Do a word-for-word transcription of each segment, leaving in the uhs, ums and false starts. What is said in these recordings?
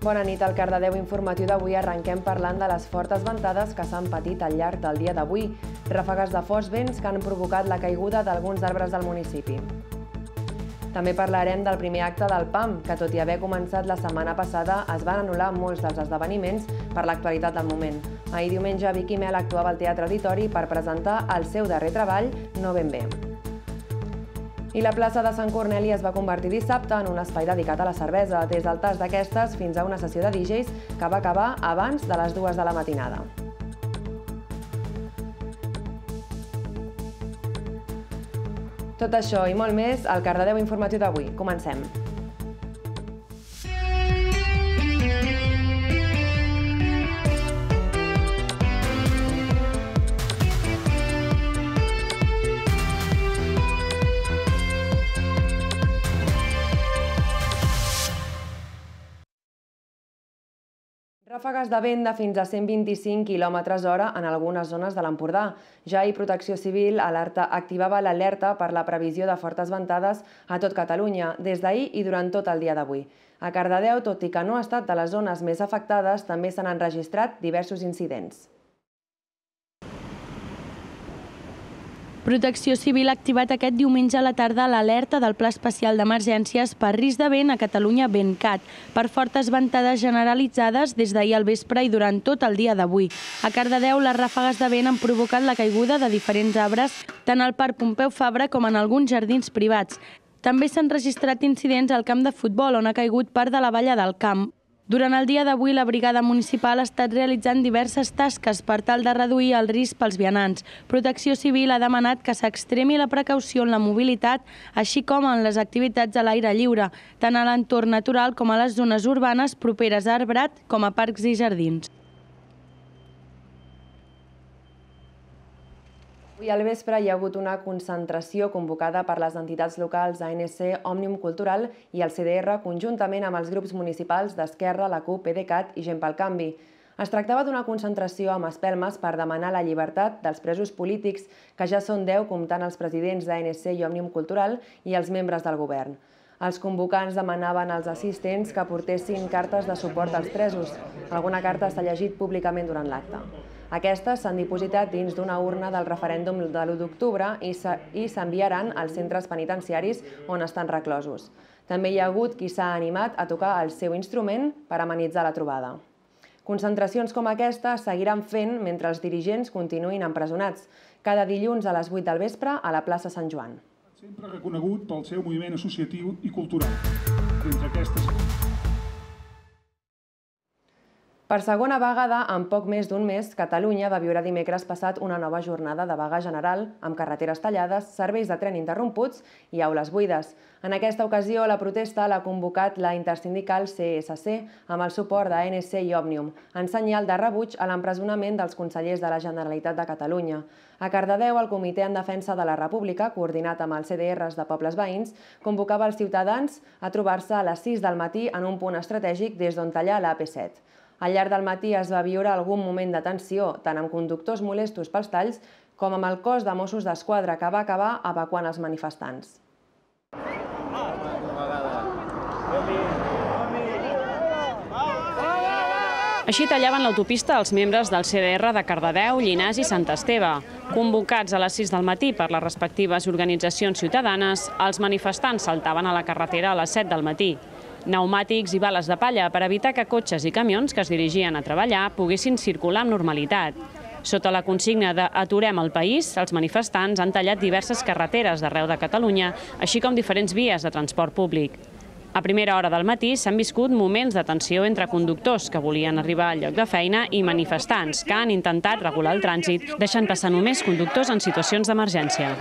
Bona nit, al Cardedeu informatiu d'avui arrenquem parlant de les fortes ventades que s'han patit al llarg del dia d'avui. Ràfegues de forts vents que han provocat la caiguda d'alguns arbres del municipi. També parlarem del primer acte del P A M, que tot i haver començat la setmana passada es van anul·lar molts dels esdeveniments per l'actualitat del moment. Ahir diumenge Vicky Mel actuava al Teatre Auditori per presentar el seu darrer treball, No ben bé. I la plaça de Sant Corneli es va convertir dissabte en un espai dedicat a la cervesa, des del tast d'aquestes fins a una sessió de D Js que va acabar abans de les dues de la matinada. Tot això i molt més al Cardedeu informatiu d'avui. Comencem. Ràfegues de vent de fins a cent vint-i-cinc quilòmetres hora en algunes zones de l'Empordà. Ja ahir Protecció Civil activava l'alerta per la previsió de fortes ventades a tot Catalunya, des d'ahir i durant tot el dia d'avui. A Cardedeu, tot i que no ha estat de les zones més afectades, també s'han enregistrat diversos incidents. Protecció Civil ha activat aquest diumenge a la tarda l'alerta del Pla Especial d'Emergències per risc de vent a Catalunya VentCat, per fortes ventades generalitzades des d'ahir al vespre i durant tot el dia d'avui. A Cardedeu, les ràfegues de vent han provocat la caiguda de diferents arbres, tant al Parc Pompeu Fabra com en alguns jardins privats. També s'han registrat incidents al camp de futbol, on ha caigut part de la valla del camp. Durant el dia d'avui, la brigada municipal ha estat realitzant diverses tasques per tal de reduir el risc pels vianants. Protecció Civil ha demanat que s'extremi la precaució en la mobilitat, així com en les activitats a l'aire lliure, tant a l'entorn natural com a les zones urbanes properes a arbrat com a parcs i jardins. Avui al vespre hi ha hagut una concentració convocada per les entitats locals A N C, Òmnium Cultural i el C D R conjuntament amb els grups municipals d'Esquerra, la CUP, PDeCAT i Gent pel Canvi. Es tractava d'una concentració amb espelmes per demanar la llibertat dels presos polítics, que ja són deu comptant els presidents d'A N C i Òmnium Cultural i els membres del govern. Els convocants demanaven als assistents que portessin cartes de suport als presos. Alguna carta s'ha llegit públicament durant l'acte. Aquestes s'han dipositat dins d'una urna del referèndum de l'u d'octubre i s'enviaran als centres penitenciaris on estan reclosos. També hi ha hagut qui s'ha animat a tocar el seu instrument per amenitzar la trobada. Concentracions com aquesta seguiran fent mentre els dirigents continuïn empresonats, cada dilluns a les vuit del vespre a la plaça Sant Joan. Sempre reconegut pel seu moviment associatiu i cultural. D'entre aquestes... Per segona vegada, en poc més d'un mes, Catalunya va viure dimecres passat una nova jornada de vaga general amb carreteres tallades, serveis de tren interromputs i aules buides. En aquesta ocasió, la protesta l'ha convocat la intersindical C S C amb el suport d'A N C i Òmnium, en senyal de rebuig a l'empresonament dels consellers de la Generalitat de Catalunya. A Cardedeu, el Comitè en Defensa de la República, coordinat amb els C D Rs de pobles veïns, convocava els ciutadans a trobar-se a les sis del matí en un punt estratègic des d'on tallar la A P set. Al llarg del matí es va viure algun moment de tensió, tant amb conductors molestos pels talls com amb el cos de Mossos d'Esquadra, que va acabar evacuant els manifestants. Així tallaven l'autopista els membres del C D R de Cardedeu, Llinars i Sant Esteve. Convocats a les sis del matí per les respectives organitzacions ciutadanes, els manifestants saltaven a la carretera a les set del matí. Pneumàtics i bales de palla per evitar que cotxes i camions que es dirigien a treballar poguessin circular amb normalitat. Sota la consigna de "Aturem el país", els manifestants han tallat diverses carreteres d'arreu de Catalunya, així com diferents vies de transport públic. A primera hora del matí s'han viscut moments de tensió entre conductors que volien arribar al lloc de feina i manifestants que han intentat regular el trànsit, deixant passar només conductors en situacions d'emergència.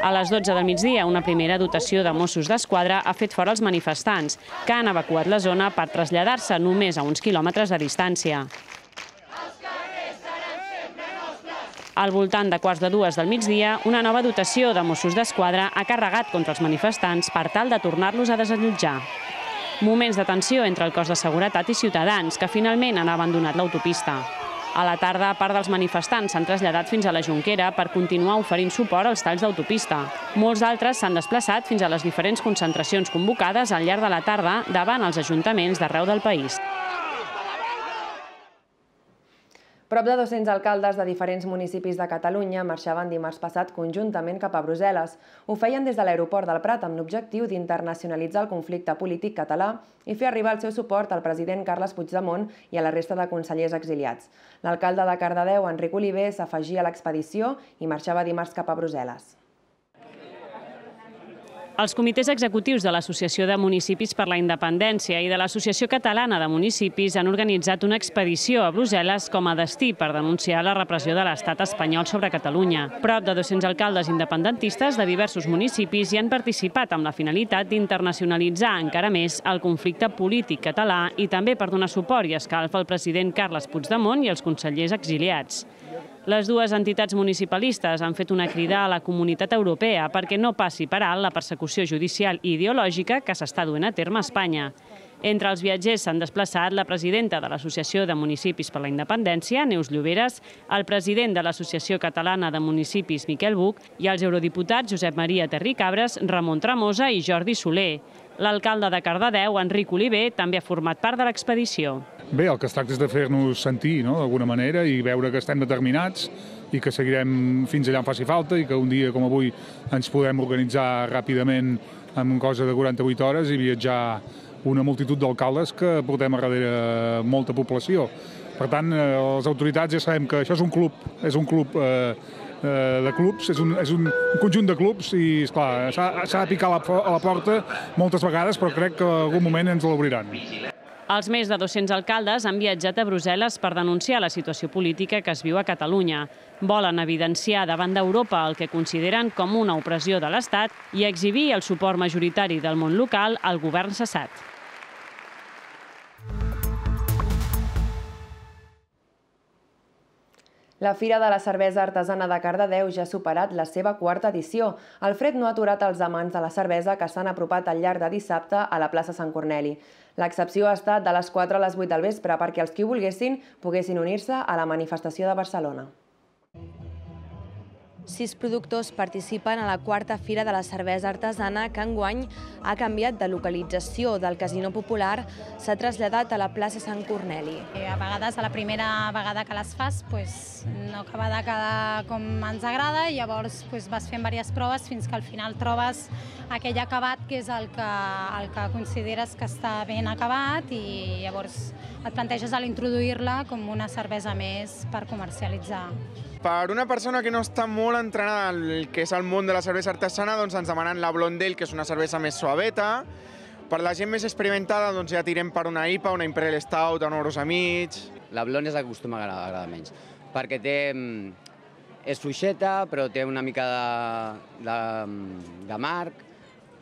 A les dotze del migdia, una primera dotació de Mossos d'Esquadra ha fet fora els manifestants, que han evacuat la zona per traslladar-se només a uns quilòmetres de distància. Al voltant de quarts de dues del migdia, una nova dotació de Mossos d'Esquadra ha carregat contra els manifestants per tal de tornar-los a desallotjar. Moments de tensió entre el cos de seguretat i ciutadans, que finalment han abandonat l'autopista. A la tarda, part dels manifestants s'han traslladat fins a la Jonquera per continuar oferint suport als talls d'autopista. Molts d'altres s'han desplaçat fins a les diferents concentracions convocades al llarg de la tarda davant els ajuntaments d'arreu del país. Prop de dos-cents alcaldes de diferents municipis de Catalunya marxaven dimarts passat conjuntament cap a Brussel·les. Ho feien des de l'aeroport del Prat amb l'objectiu d'internacionalitzar el conflicte polític català i fer arribar el seu suport al president Carles Puigdemont i a la resta de consellers exiliats. L'alcalde de Cardedeu, Enric Oliver, s'afegia a l'expedició i marxava dimarts cap a Brussel·les. Els comitès executius de l'Associació de Municipis per la Independència i de l'Associació Catalana de Municipis han organitzat una expedició a Brussel·les com a destí per denunciar la repressió de l'estat espanyol sobre Catalunya. Prop de dos-cents alcaldes independentistes de diversos municipis hi han participat amb la finalitat d'internacionalitzar encara més el conflicte polític català i també per donar suport i escalf al president Carles Puigdemont i als consellers exiliats. Les dues entitats municipalistes han fet una crida a la comunitat europea perquè no passi per alt la persecució judicial i ideològica que s'està duent a terme a Espanya. Entre els viatgers s'han desplaçat la presidenta de l'Associació de Municipis per la Independència, Neus Lloberes, el president de l'Associació Catalana de Municipis, Miquel Buch, i els eurodiputats Josep Maria Terricabres, Ramon Tremosa i Jordi Soler. L'alcalde de Cardedeu, Enric Oliver, també ha format part de l'expedició. Bé, el que es tracta és de fer-nos sentir, no?, d'alguna manera, i veure que estem determinats i que seguirem fins allà on faci falta i que un dia com avui ens podem organitzar ràpidament en cosa de quaranta-vuit hores i viatjar una multitud d'alcaldes que portem a darrere molta població. Per tant, les autoritats ja sabem que això és un club, és un club eh, de clubs, és un, és un conjunt de clubs i, esclar, s'ha de picar a la, a la porta moltes vegades, però crec que en algun moment ens l'obriran. Els més de dos-cents alcaldes han viatjat a Brussel·les per denunciar la situació política que es viu a Catalunya. Volen evidenciar davant d'Europa el que consideren com una opressió de l'Estat i exhibir el suport majoritari del món local al govern cessat. La Fira de la Cervesa Artesana de Cardedeu ja ha superat la seva quarta edició. El fred no ha aturat els amants de la cervesa que s'han apropat al llarg de dissabte a la plaça Sant Corneli. L'excepció ha estat de les quatre a les vuit del vespre perquè els qui volguessin poguessin unir-se a la manifestació de Barcelona. Sis productors participen a la quarta Fira de la Cervesa Artesana que enguany ha canviat de localització del Casino Popular, s'ha traslladat a la plaça Sant Corneli. A vegades, a la primera vegada que les fas, no acaba de quedar com ens agrada i llavors vas fent diverses proves fins que al final trobes aquell acabat que és el que, el que consideres que està ben acabat i llavors et planteges l'introduir-la com una cervesa més per comercialitzar. Per una persona que no està molt entrenada en el que és el món de la cervesa artesana, doncs ens demanen la Blonde Ale, que és una cervesa més suaveta. Per la gent més experimentada doncs ja tirem per una I P A, una Imperial Stout, a nou euros a mig. La Blonde és la que acostuma a agradar menys, perquè té, és fluixeta, però té una mica de, de, de marc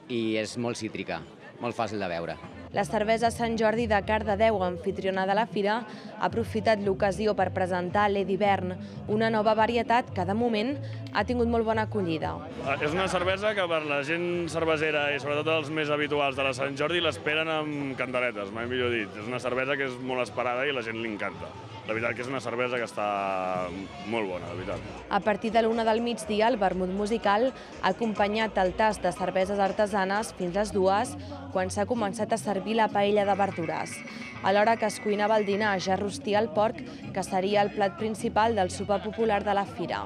i és molt cítrica, molt fàcil de beure. La cervesa Sant Jordi de Cardedeu, anfitriona de la fira, ha aprofitat l'ocasió per presentar l'E d'hivern, una nova varietat que de moment ha tingut molt bona acollida. És una cervesa que per la gent cervesera i sobretot els més habituals de la Sant Jordi l'esperen amb candeletes, mai millor dit. És una cervesa que és molt esperada i la gent li encanta. La veritat que és una cervesa que està molt bona, la veritat. A partir de l'una del migdia, el vermut musical ha acompanyat el tast de cerveses artesanes fins les dues, quan s'ha començat a servir la paella de verdures. A l'hora que es cuinava el dinar, ja rostia el porc, que seria el plat principal del sopar popular de la fira.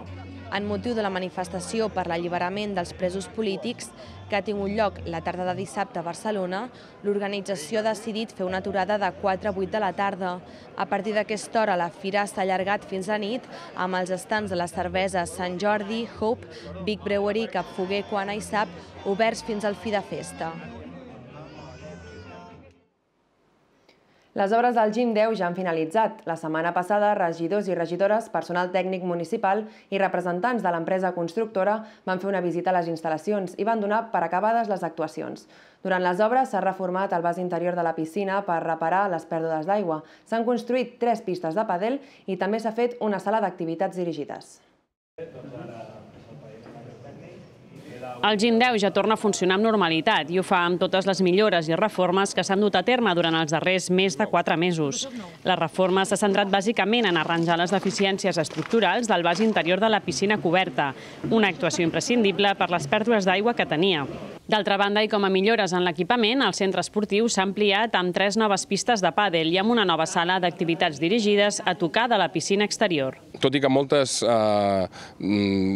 En motiu de la manifestació per l'alliberament dels presos polítics, que ha tingut lloc la tarda de dissabte a Barcelona, l'organització ha decidit fer una aturada de quatre a vuit de la tarda. A partir d'aquesta hora, la fira s'ha allargat fins a nit amb els estants de les cerveses Sant Jordi, Hope, Big Brewery, Cap Foguer, Quana i Sap, oberts fins al fi de festa. Les obres del Gim deu ja han finalitzat. La setmana passada, regidors i regidores, personal tècnic municipal i representants de l'empresa constructora van fer una visita a les instal·lacions i van donar per acabades les actuacions. Durant les obres s'ha reformat el vas interior de la piscina per reparar les pèrdues d'aigua. S'han construït tres pistes de pàdel i també s'ha fet una sala d'activitats dirigides. El Gim deu ja torna a funcionar amb normalitat i ho fa amb totes les millores i reformes que s'han dut a terme durant els darrers més de quatre mesos. La reforma s'ha centrat bàsicament en arranjar les deficiències estructurals del vas interior de la piscina coberta, una actuació imprescindible per les pèrdues d'aigua que tenia. D'altra banda, i com a millores en l'equipament, el centre esportiu s'ha ampliat amb tres noves pistes de pàdel i amb una nova sala d'activitats dirigides a tocar de la piscina exterior. Tot i que moltes eh,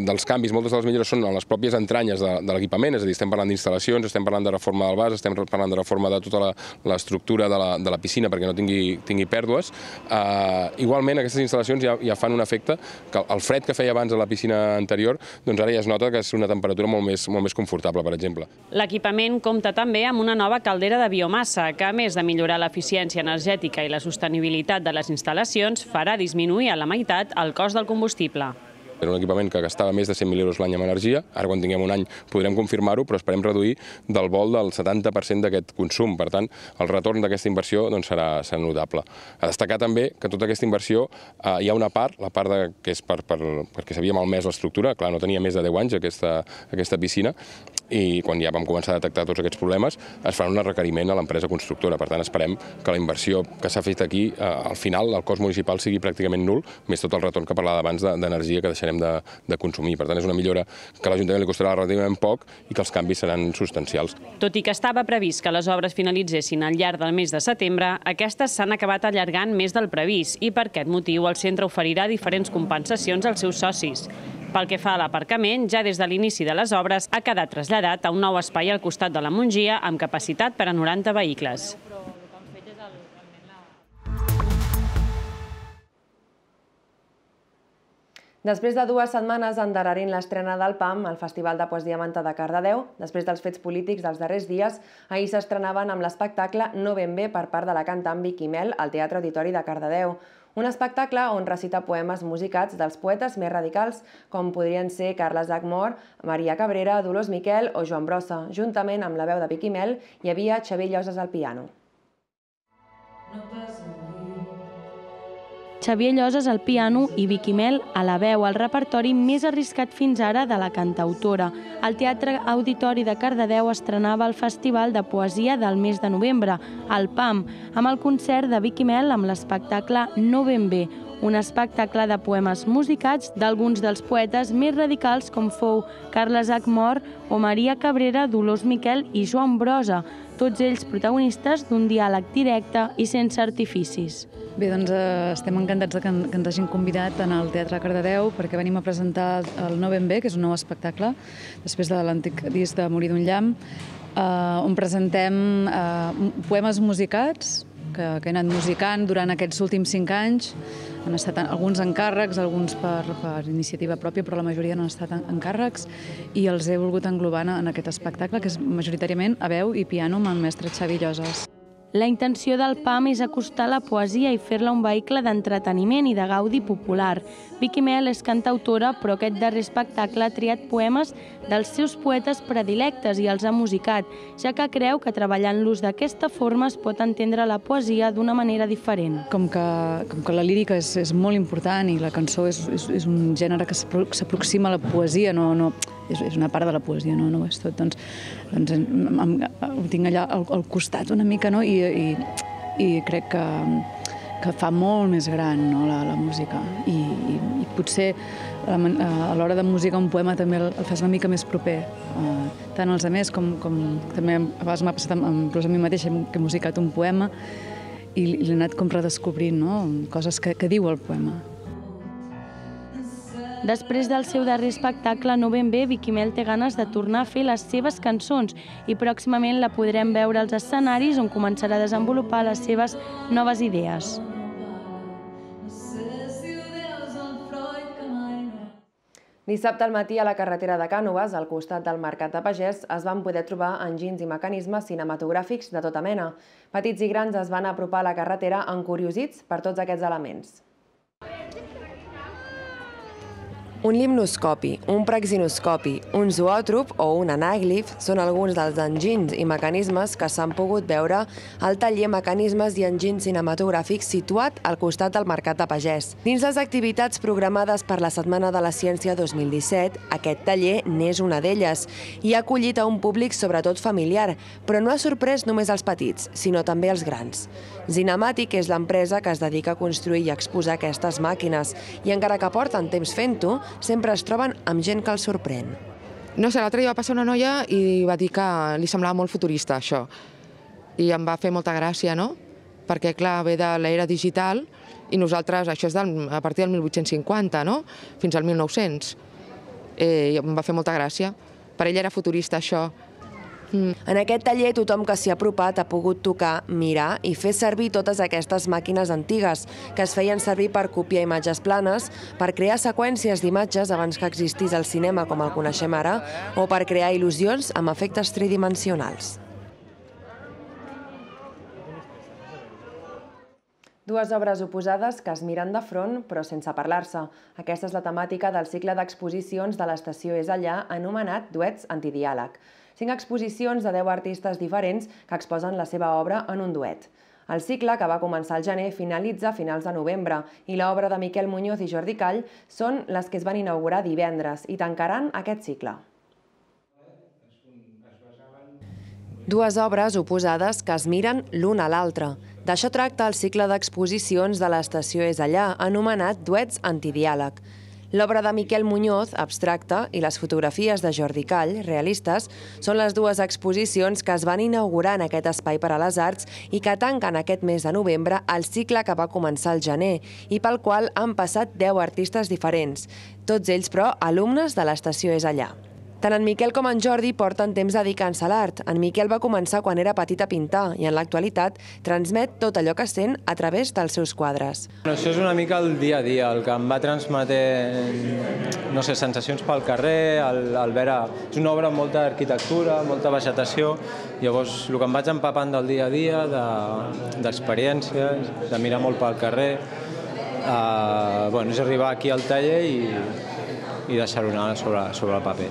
dels canvis, moltes de les millores són en les pròpies entranyes de, de l'equipament, és a dir, estem parlant d'instal·lacions, estem parlant de reforma del vas, estem parlant de reforma de tota l'estructura de, la, de la piscina perquè no tingui, tingui pèrdues. Eh, igualment, aquestes instal·lacions ja, ja fan un efecte que el fred que feia abans a la piscina anterior, doncs ara ja es nota que és una temperatura molt més, molt més confortable, per exemple. L'equipament compta també amb una nova caldera de biomassa que, a més de millorar l'eficiència energètica i la sostenibilitat de les instal·lacions, farà disminuir a la meitat el cost del combustible. Era un equipament que gastava més de cent mil euros l'any en energia. Ara, quan tinguem un any, podrem confirmar-ho, però esperem reduir del vol del setanta per cent d'aquest consum. Per tant, el retorn d'aquesta inversió doncs, serà, serà notable. A destacar també que tota aquesta inversió eh, hi ha una part, la part de, que és per, per, perquè s'havia malmès l'estructura, clar, no tenia més de deu anys aquesta, aquesta piscina, i quan ja vam començar a detectar tots aquests problemes, es farà un requeriment a l'empresa constructora. Per tant, esperem que la inversió que s'ha fet aquí, eh, al final, el cost municipal sigui pràcticament nul, més tot el retorn que parlava abans d'energia que deixarem De, de consumir. Per tant, és una millora que a l'Ajuntament li costarà relativament poc i que els canvis seran substancials. Tot i que estava previst que les obres finalitzessin al llarg del mes de setembre, aquestes s'han acabat allargant més del previst i per aquest motiu el centre oferirà diferents compensacions als seus socis. Pel que fa a l'aparcament, ja des de l'inici de les obres ha quedat traslladat a un nou espai al costat de la Mongia amb capacitat per a noranta vehicles. Després de dues setmanes endarrerint l'estrena del P A M, el Festival de Poesia Manta de Cardedeu, després dels fets polítics dels darrers dies, ahir s'estrenaven amb l'espectacle No ben bé per part de la cantant Vicky Mel al Teatre Auditori de Cardedeu. Un espectacle on recita poemes musicats dels poetes més radicals, com podrien ser Carles Acmor, Maria Cabrera, Dolors Miquel o Joan Brossa. Juntament amb la veu de Vicky Mel hi havia Xavier Lloses al piano. Xavier Lloses al piano i Vicky Mel a la veu, el repertori més arriscat fins ara de la cantautora. El Teatre Auditori de Cardedeu estrenava el Festival de Poesia del mes de novembre, el P A M, amb el concert de Vicky Mel amb l'espectacle No ben bé, un espectacle de poemes musicats d'alguns dels poetes més radicals com fou Carles Acmor o Maria Cabrera, Dolors Miquel i Joan Brossa, tots ells protagonistes d'un diàleg directe i sense artificis. Bé, doncs eh, estem encantats de que, que ens hagin convidat en el Teatre Cardedeu perquè venim a presentar el No ben bé, que és un nou espectacle, després de l'antic disc de Morir d'un llamp, eh, on presentem eh, poemes musicats que, que he anat musicant durant aquests últims cinc anys. Han estat alguns encàrrecs, alguns per, per iniciativa pròpia, però la majoria no han estat encàrrecs, i els he volgut englobar en aquest espectacle, que és majoritàriament a veu i piano amb el mestre Xavier Lloses. La intenció del P A M és acostar la poesia i fer-la un vehicle d'entreteniment i de gaudi popular. Vicky Mel és cantautora, però aquest darrer espectacle ha triat poemes dels seus poetes predilectes i els ha musicat, ja que creu que treballant-los d'aquesta forma es pot entendre la poesia d'una manera diferent. Com que, com que la lírica és, és molt important i la cançó és, és, és un gènere que s'aproxima a la poesia, no, no, és, és una part de la poesia, no, no ho és tot, doncs, doncs em, em, ho tinc allà al, al costat una mica, no? I, i, i crec que, que fa molt més gran, no, la, la música, i, i, i potser a l'hora de musicar un poema també el, el fas una mica més proper, uh, tant als altres com, com també a vegades m'ha passat amb, amb, a mi mateixa que he musicat un poema i, i l'he anat com redescobrint, no? Coses que, que diu el poema. Després del seu darrer espectacle No ben bé, Vicky Mel té ganes de tornar a fer les seves cançons i pròximament la podrem veure als escenaris on començarà a desenvolupar les seves noves idees. Dissabte al matí a la carretera de Cànoves, al costat del Mercat de Pagès, es van poder trobar enginys i mecanismes cinematogràfics de tota mena. Petits i grans es van apropar a la carretera encuriosits per tots aquests elements. Un limnoscopi, un praxinoscopi, un zoòtrop o un anàglif són alguns dels enginys i mecanismes que s'han pogut veure al taller Mecanismes i Enginys Cinematogràfics situat al costat del Mercat de Pagès. Dins les activitats programades per la Setmana de la Ciència dos mil disset, aquest taller n'és una d'elles i ha acollit a un públic sobretot familiar, però no ha sorprès només els petits, sinó també els grans. Zinematic és l'empresa que es dedica a construir i exposar aquestes màquines i encara que porten temps fent-ho, sempre es troben amb gent que els sorprèn. No sé, l'altre dia va passar una noia i va dir que li semblava molt futurista, això. I em va fer molta gràcia, no? Perquè, clar, ve de l'era digital i nosaltres, això és a partir del mil vuit-cents cinquanta, no? Fins al mil nou-cents. I em va fer molta gràcia. Per ell era futurista, això. En aquest taller tothom que s'hi ha apropat ha pogut tocar, mirar i fer servir totes aquestes màquines antigues que es feien servir per copiar imatges planes, per crear seqüències d'imatges abans que existís el cinema com el coneixem ara o per crear il·lusions amb efectes tridimensionals. Dues obres oposades que es miren de front però sense parlar-se. Aquesta és la temàtica del cicle d'exposicions de l'Estació És Allà anomenat Duets Antidiàleg. Cinc exposicions de deu artistes diferents que exposen la seva obra en un duet. El cicle, que va començar al gener, finalitza a finals de novembre i l'obra de Miquel Muñoz i Jordi Call són les que es van inaugurar divendres i tancaran aquest cicle. Dues obres oposades que es miren l'una a l'altra. D'això tracta el cicle d'exposicions de l'Estació És Allà, anomenat Duets Antidiàleg. L'obra de Miquel Muñoz, abstracta, i les fotografies de Jordi Call, realistes, són les dues exposicions que es van inaugurar en aquest espai per a les arts i que tanquen aquest mes de novembre el cicle que va començar al gener i pel qual han passat deu artistes diferents, tots ells, però, alumnes de l'Estació És Allà. Tant en Miquel com en Jordi porten temps dedicant-se a l'art. En Miquel va començar quan era petit a pintar i en l'actualitat transmet tot allò que sent a través dels seus quadres. Això és una mica el dia a dia, el que em va transmetent, no sé, sensacions pel carrer, el veure... És una obra amb molta arquitectura, molta vegetació, llavors el que em vaig empapant del dia a dia, d'experiències, de mirar molt pel carrer, és arribar aquí al taller i deixar-ho anar sobre el paper.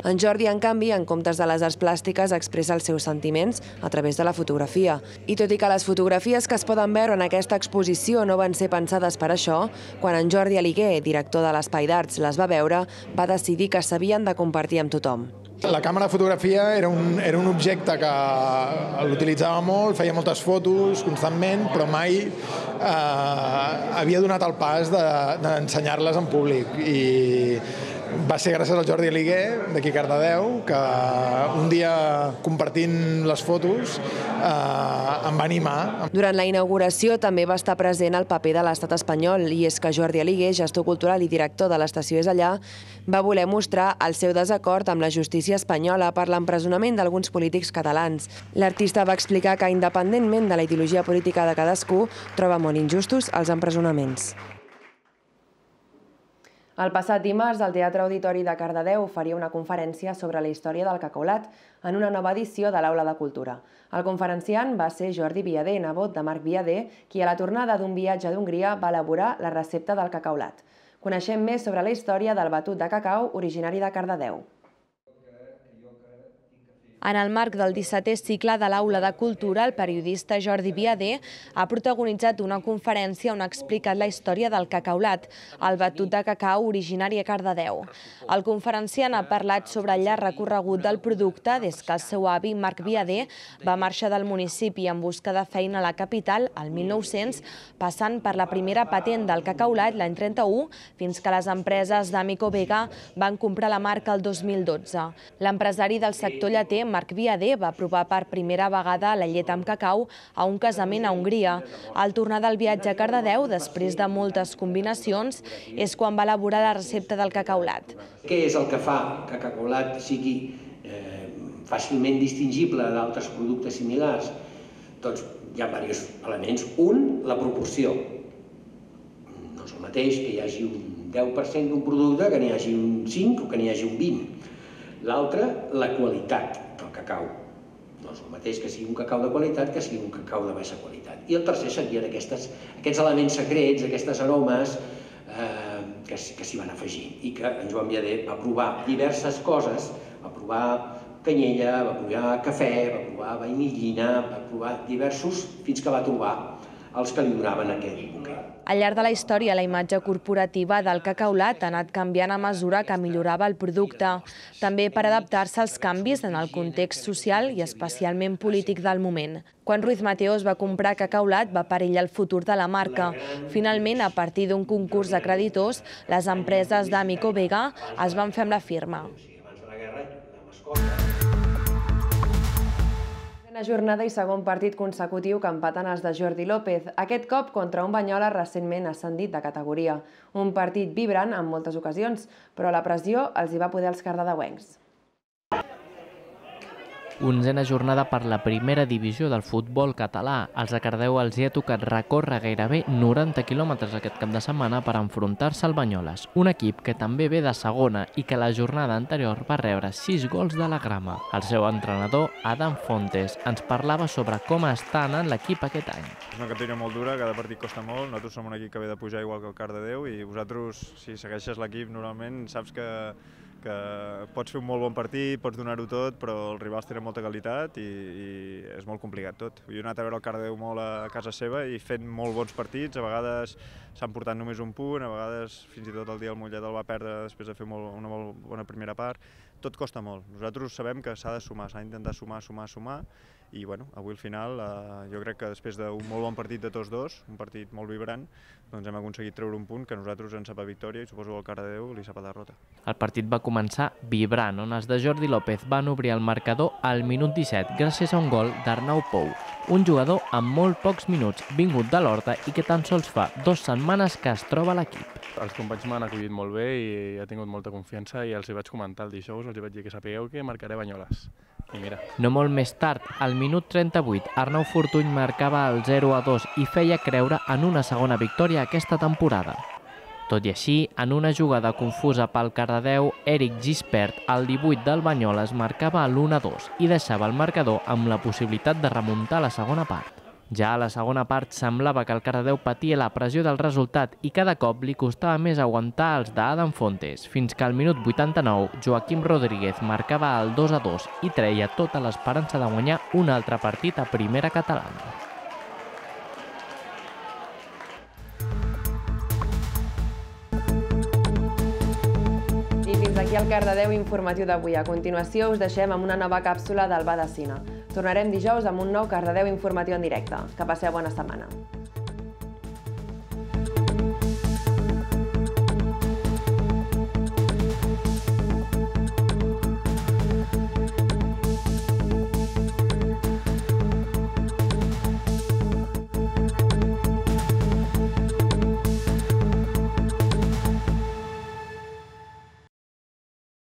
En Jordi, en canvi, en comptes de les arts plàstiques, expressa els seus sentiments a través de la fotografia. I tot i que les fotografies que es poden veure en aquesta exposició no van ser pensades per això, quan en Jordi Aliguer, director de l'Espai d'Arts, les va veure, va decidir que s'havien de compartir amb tothom. La càmera de fotografia era un, era un objecte que l'utilitzava molt, feia moltes fotos constantment, però mai eh, havia donat el pas d'ensenyar-les en públic. I va ser gràcies al Jordi Aliguer, d'aquí a Cardedeu, que un dia, compartint les fotos, eh, em va animar. Durant la inauguració també va estar present el paper de l'estat espanyol, i és que Jordi Aliguer, gestor cultural i director de l'Estació És Allà, va voler mostrar el seu desacord amb la justícia espanyola per l'empresonament d'alguns polítics catalans. L'artista va explicar que, independentment de la ideologia política de cadascú, troba molt injustos els empresonaments. El passat dimarts, el Teatre Auditori de Cardedeu oferia una conferència sobre la història del cacaulat en una nova edició de l'Aula de Cultura. El conferenciant va ser Jordi Viader, nebot de Marc Viader, qui a la tornada d'un viatge d'Hongria va elaborar la recepta del cacaulat. Coneixem més sobre la història del batut de cacau originari de Cardedeu. En el marc del dissetè cicle de l'Aula de Cultura, el periodista Jordi Viader ha protagonitzat una conferència on ha explicat la història del cacaulat, el batut de cacau originari a Cardedeu. El conferenciant ha parlat sobre el llarg recorregut del producte des que el seu avi, Marc Viader, va marxar del municipi en busca de feina a la capital el mil nou-cents, passant per la primera patent del cacaulat l'any trenta-u, fins que les empreses d'Amico Vega van comprar la marca el dos mil dotze. L'empresari del sector lleter, Marc Viader, va provar per primera vegada la llet amb cacau a un casament a Hongria. Al tornar del viatge a Cardedeu, després de moltes combinacions, és quan va elaborar la recepta del cacaulat. Què és el que fa que el cacaulat sigui fàcilment distingible d'altres productes similars? Doncs hi ha diversos elements. Un, la proporció. No és el mateix que hi hagi un deu per cent d'un producte que n'hi hagi un cinc o que n'hi hagi un vint. L'altre, la qualitat del cacau. No és el mateix que sigui un cacau de qualitat que sigui un cacau de baixa qualitat. I el tercer serien aquests elements secrets, aquestes aromes que s'hi van afegir i que en Joan Viader va provar diverses coses, va provar canyella, va provar cafè, va provar vainillina, va provar diversos, fins que va trobar els que li donaven aquest bouquet. Al llarg de la història, la imatge corporativa del cacaulat ha anat canviant a mesura que millorava el producte, també per adaptar-se als canvis en el context social i especialment polític del moment. Quan Ruiz Mateos va comprar Cacaulat va perillar el futur de la marca. Finalment, a partir d'un concurs de creditors, les empreses d'Amico Vega es van fer amb la firma. Una jornada i segon partit consecutiu que empaten els de Jordi López, aquest cop contra un Banyoles recentment ascendit de categoria. Un partit vibrant en moltes ocasions, però la pressió els hi va poder als cardedeuencs. Onzena jornada per la primera divisió del futbol català. Els de Cardedeu els hi ha tocat recórrer gairebé noranta quilòmetres aquest cap de setmana per enfrontar-se al Banyoles, un equip que també ve de segona i que la jornada anterior va rebre sis gols de la grama. El seu entrenador, Adam Fontes, ens parlava sobre com està anant l'equip aquest any. És una categoria molt dura, cada partit costa molt. Nosaltres som un equip que ve de pujar igual que el Cardedeu i vosaltres, si segueixes l'equip, normalment saps que que pots fer un molt bon partit, pots donar-ho tot, però els rivals tenen molta qualitat i, i és molt complicat tot. Jo he anat a veure el Cardedeu molt a casa seva i fent molt bons partits, a vegades s'han portat només un punt, a vegades fins i tot el dia el Mollet el va perdre després de fer molt, una molt bona primera part. Tot costa molt. Nosaltres sabem que s'ha de sumar, s'ha d'intentar sumar, sumar, sumar i bueno, avui al final eh, jo crec que després d'un molt bon partit de tots dos, un partit molt vibrant, doncs hem aconseguit treure un punt que a nosaltres ens sap a victòria i suposo que al Cardedeu li sap a derrota. El partit va començar vibrant, on els de Jordi López van obrir el marcador al minut disset gràcies a un gol d'Arnau Pou, un jugador amb molt pocs minuts, vingut de l'Horta i que tan sols fa dues setmanes que es troba a l'equip. Els companys m'han acollit molt bé i he tingut molta confiança i els hi vaig comentar el dijous, els hi vaig dir que sapigueu que marcaré Banyoles. I mira. No molt més tard, al minut trenta-vuit, Arnau Fortuny marcava el zero a dos i feia creure en una segona victòria aquesta temporada. Tot i així, en una jugada confusa pel Cardedeu, Eric Gispert, al divuit del Banyoles, marcava l'u a dos i deixava el marcador amb la possibilitat de remuntar la segona part. Ja a la segona part semblava que el Cardedeu patia la pressió del resultat i cada cop li costava més aguantar els d'Adam Fontes, fins que al minut vuitanta-nou Joaquim Rodríguez marcava el dos a dos i treia tota l'esperança de guanyar un altre partit a primera catalana. I fins aquí el Cardedeu informatiu d'avui. A continuació us deixem amb una nova càpsula del Ba de Cine. Tornarem dijous amb un nou Cardedeu informatiu en directe. Que passeu bona setmana.